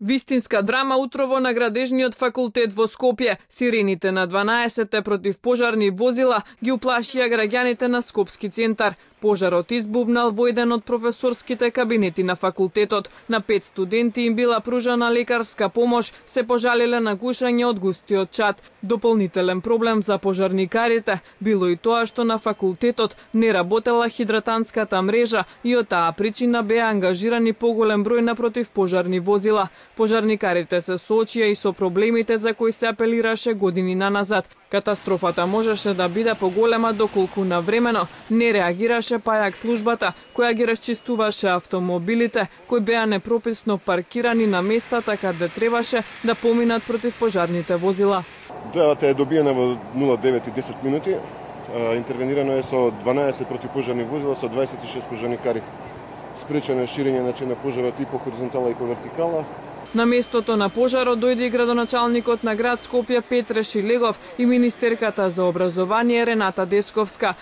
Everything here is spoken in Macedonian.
Вистинска драма утрово на градежниот факултет во Скопје. Сирените на 12 противпожарни возила ги уплашија граѓаните на Скопски центар. Пожарот избувнал во еден од професорските кабинети на факултетот. На 5 студенти им била пружана лекарска помош, се пожалиле на гушање од густиот чад. Дополнителен проблем за пожарникарите било и тоа што на факултетот не работела хидратанската мрежа и од таа причина беа ангажирани поголем број на противпожарни возила. Пожарникарите се соочија и со проблемите за кои се апелираше години наназад. Катастрофата можеше да биде поголема доколку навремено не реагираше пајак службата која ги расчистуваше автомобилите кои беа непрописно паркирани на местата каде требаше да поминат противпожарните возила. Дојавата е добиена во 09:10 минути. Интервенирано е со 12 противпожарни возила со 26 пожарникари. Спречено е ширење на пожарот и по хоризонтала и по вертикала. На местото на пожарот дојде и градоначалникот на град Скопје Петре Шилегов и министерката за образование Рената Дечковска.